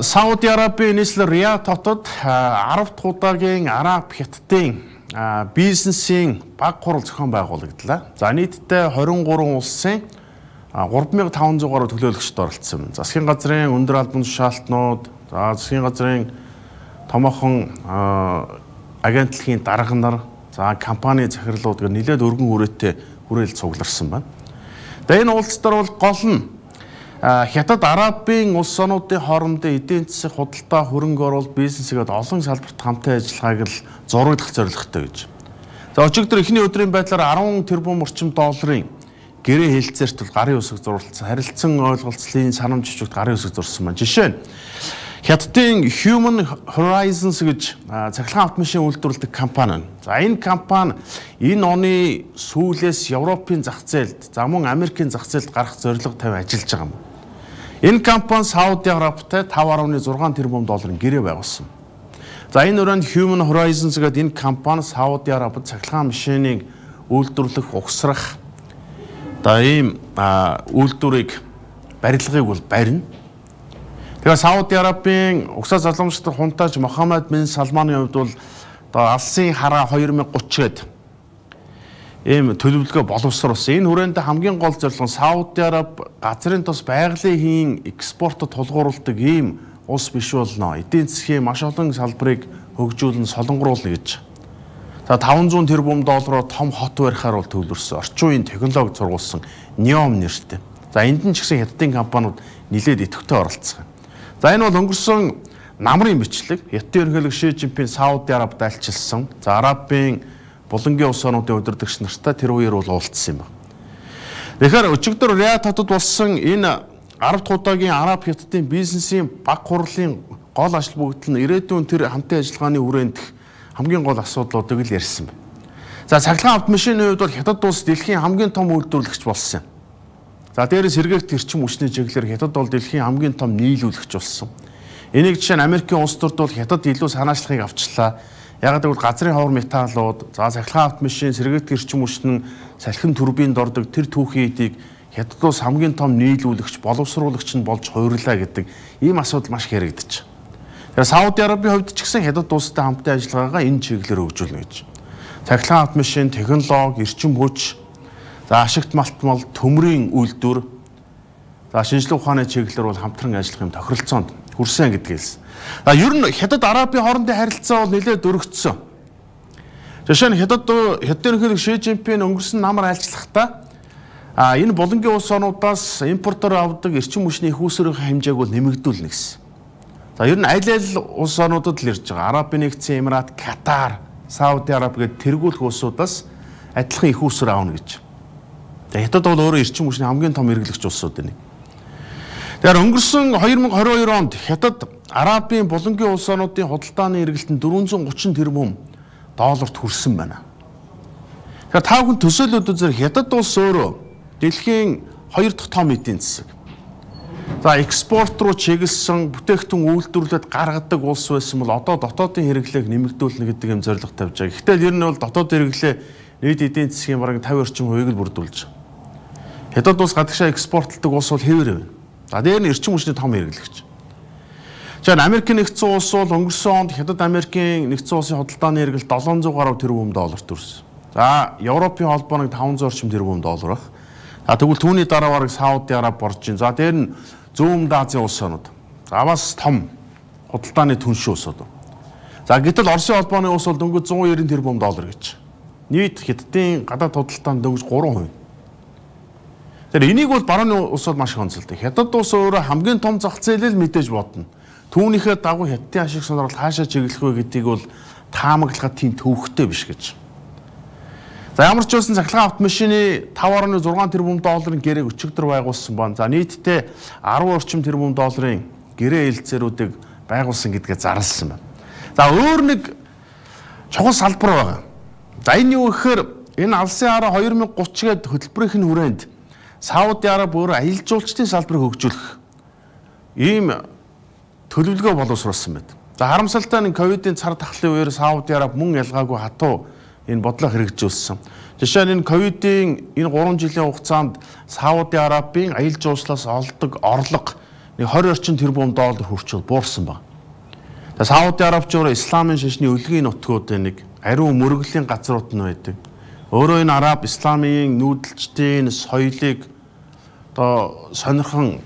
Сауди Арабын нийслэл Риад хотод 10 дахь удаагийн Араб хятадын бизнесийн баг хурал зохион байгуулагдлаа. За нийтдээ 23 улсын 3500 гаруй төлөөлөгчд оролцсон. Засгийн газрын өндөр албан тушаалтнууд, засгийн газрын томоохон агентлагийн дарга нар, за компани захирлууд гэх нэлээд өргөн хүрээтэй хүрээлэл цугларсан байна. Тэгээ энэ уулзалтаар бол гол нь Хятад Арабын улс орнуудын хоорондын эдийн засаг худалдаа, хөрөнгө оруулалт, бизнесгээд олон салбарт хамтын ажиллагааг л зурагдах зорилготой гэж. За өчигдөр эхний өдрийн байдлаар 10 тэрбум орчим долларын гэрээ хэлцээрт бол гарын үсэг зурулсан, харилцан ойлголцлын санамж жижигт гарын үсэг зурсан байна. Жишээ нь Хятадын Human Horizons гэж цахилгаан автомашин үйлдвэрлэдэг компани. За энэ компани энэ оны сүүлээс Европын зах зээлд, за мөн Америкийн зах зээлд гарах зорилго тавь ажиллаж байгаа юм. Энэ компани Сауди Арабтай 5.6 тэрбум долларын гэрээ байгуулсан. За энэ өрөөнд Human Horizons гэдэг энэ компани Сауди Арабид цахилгаан машиныг үйлдвэрлэх, угсрах ийм үйлдвэрийг барилгыг бол барина. Тэгээ Сауди Арабын угсаа залуумжтай хунтааж Мохаммед бин Салманы хувьд бол алсын хараа 2030 гээд ийм төлөвлөгөө боловсруулсан. Энэ хүрээнд хамгийн гол зорилго нь Сауди Араб газрын тус байгалийн хийн экспортод тулгуурладаг ийм улс биш болно. Эдийн засгийн маш олон салбарыг хөгжүүлэн солонгоруулна гэж. За 500 тэрбум доллараар том хот барихаар бол төвлөрсөн. Орчин үеийн технологи сургуулсан NEOM нэртэй. За энд нь ч гэсэн хятадын компаниуд нэлээд идэвхтэй оролцсон. За энэ бол өнгөрсөн намрын бичлэг. Хятадын ерөнхийлөг Ши Жинпин Сауди Арабид альчилсан. За Арабын булангийн улс орнуудын удирдагч нартай тэр үеэр бол уулзсан юм байна. Тэгэхээр өчигдөр Риад хотод болсон энэ 10 дахь удаагийн Араб хятадын бизнесийн баг хурлын гол ажил бүгдэл нь ирээдүйн тэр хамтын ажиллагааны хүрээнд хамгийн гол асуудлуудыг л ярьсан байна. За цахилгаан автомашины хувьд бол Хятад улс дэлхийн хамгийн том үйлдвэрлэгч болсон. За дээрээс сэргээгт эрчим хүчний чиглэлээр Хятад бол дэлхийн хамгийн том нийлүүлэгч болсон. Энийг жишээ нь Америкийн улс төрд бол Хятад илүү санаачлагыг авчлаа. Яг гэвэл газрын ховор металлууд, за цахилгаан автомашин, сэргээгт эрчим хүчнэн салхин турбинд ордог тэр түүхийн эдийг Хятад улс хамгийн том нийлүүлэгч, боловсруулагч нь болж хувирлаа гэдэг ийм асуудал маш хэрэгдэж. Тэгэхээр Сауди Арабын хувьд ч гэсэн Хятад улстай хамтын ажиллагаагаа энэ чиглэлээр хөгжүүлнэ гэж. Цахилгаан автомашин, технологи, эрчим хүч, за ашигт малтмал, төмрийн үйлдвэр, за шинжилгээ ухааны чиглэлээр бол хамтран ажиллах юм тохиролцоонд хүрсэн гэдгээс. Ер нь Хятад Арабын хоорондын харилцаа бол нэлээд өргөцсөн. Жишээ нь Хятадын ерөнхийлөг Ши Жинпин өнгөрсөн намар айлчлахдаа энэ булангийн улс орнуудаас импортоор авдаг эрчим хүчний их үүсвэрийн хэмжээг бол нэмэгдүүлнэ гэсэн. За ер нь аль улс орнуудад л ирж байгаа. Арабын нэгдсэн Эмират, Катар, Сауди Араб гэдэг тэргүүлэх улсуудаас адилхан их үүсвэр аавна гэж. За Хятад бол өөрөө эрчим хүчний хамгийн том эргэлэгч улсууд нэг. Тэгэхээр өнгөрсөн 2022 онд Хятад Арабын булангийн улс орнуудын худалдааны эргэлтэнд 430 тэрбум долларт хүрсэн байна. Тэгэхээр та бүхэн төсөөлөд үзэр Хятад улс өөрөө дэлхийн 2 дахь том эдийн засаг. За экспорт руу чиглэсэн бүтээгдэхүүн үйлдвэрлэлд гаргадаг улс байсан бол одоо дотоодын хэрэглээг нэмэгдүүлнэ гэдэг юм зорилго тавьж байгаа. Гэхдээ ер нь бол дотоод хэрэглээ нийт эдийн засгийн бараг 50 орчим хувийг л бүрдүүлж байгаа. Хятад улс гадагшаа экспортлдог улс бол хэвээр байна. За дээр нь эрчим хүчний том хэрэглэгч. За Америкийн нэгдсэн улс бол өнгөрсөн онд Хятад Америкийн нэгдсэн улсын худалдааны эргэлт 700 гаруй тэрбум долларт хүрсэн. За Европын холбооныг 500 орчим тэрбум доллар ах. За тэгвэл түүний дараа бараг Сауди Араб орж ийн. За дээр нь Зүүн Азийн улс орнууд. За бас том худалдааны түнш улсууд. За гэтэл Оросын холбооны улс бол дөнгөж 190 тэрбум доллар гэж. Нийт Хятадын гадаад худалдаанд дөнгөж 3%. Тэгэхээр энийг бол барууны улсууд маш их онцолдог. Хятад улс өөрөө хамгийн том зах зээлэл мэдээж бодно. Түүнийхээ дагуу Хятадын ашиг сонирхол хаашаа чиглэх вэ гэдгийг бол таамаглахад тийм төвөгтэй биш гэж. За ямар ч байсан цахилгаан автомашины 5.6 тэрбум долларын гэрээг өчигдөр байгуулсан байна. За нийтдээ 10 орчим тэрбум долларын гэрээ хэлцээрүүдийг байгуулсан гэдгээ зарласан байна. За өөр нэг чухал салбар байгаа. За энэ юу гэхээр энэ алсын хараа 2030 гээд хөтөлбөрийн хүрээнд Сауди Араб өөрөө аялал жуулчдын салбарыг хөгжүүлэх ийм төлөвлөгөө боловсруулсан байна. За харамсалтай нь ковидын цар тахлын үеэр Сауди Араб мөн ялгаагүй хатуу энэ бодлоо хэрэгжүүлсэн. Жишээ нь энэ ковидын энэ 3 жилийн хугацаанд Сауди Арабын аялал жуулчлалаас олдог орлого нэг 20 орчим тэрбум доллар хүрчил буурсан байна. За Сауди Арабчууд исламын шашны өлгийн нутгуудын нэг ариун мөргөлийн газрууд нь байдаг. Өөрөө энэ араб исламын нүүдэлчдийн соёлыг одоо сонирхон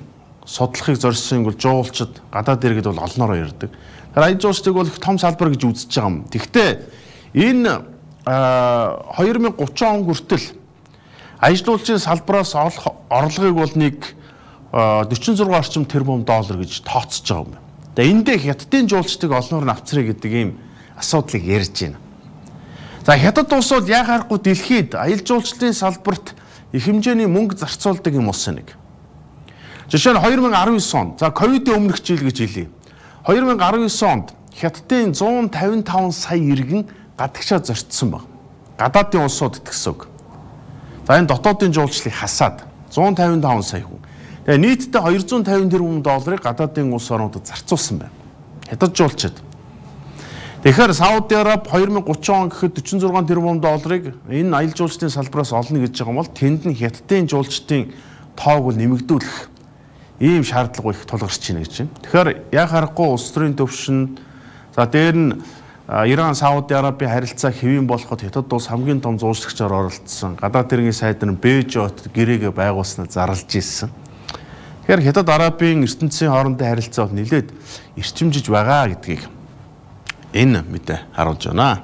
судлахыг зорьсон бол жуулчид гадаад иргэд бол олноороо ирдэг. Тэгэхээр аяд жуулчдыг бол их том салбар гэж үзэж байгаа юм. Гэхдээ энэ 2030 он хүртэл аяд жуулчдын салбараас олох орлогыг бол нэг 46 орчим тэрбум доллар гэж тооцож байгаа юм. Тэгээ эндээ хятадын жуулчдыг олноор нь авчрыг гэдэг ийм асуудлыг ярьж байна. За хятад улс бол яхаарахгүй дэлхийд аялал жуулчлалын салбарт их хэмжээний мөнгө зарцуулдаг юм улс нэг. Жишээ нь 2019 он, за ковидын өмнөх жил гэж хэлье. 2019 онд хятадын 155 сая иргэн гадагшаа зорцсон баг. Гадаадын улсуудад гэсэн үг. За энэ дотоодын жуулчлалыг хасаад 155 сая хүн. Тэгээ нийтдээ 250 тэрбум долларыг гадаадын улс орнуудад зарцуулсан байна. Хятад жуулчид. Тэгэхээр Сауди Араб 2030 он гэхэд 46 тэрбум долларыг энэ аялал жуулчлалын салбараас олно гэж байгаа юм бол тэнд нь хятадын жуулчдын тоог бол нэмэгдүүлэх ийм шаардлага их тулгарч байна гэж байна. Тэгэхээр яг харахгүй улс төрийн төвшөнд за дээр нь Иран, Сауди Арабын харилцаа хэвийн болоход хятад улс хамгийн том зуучлагчаар оролцсон. Гадаад иргэний сайд нь Бээжот гэрээгээ байгуулснаа зарлж ирсэн. Тэгэхээр хятад Арабын ертөнцийн хоорондын харилцаа нэлээд эрчимжиж байгаа гэдгийг энэ мэдээ харуулж байна.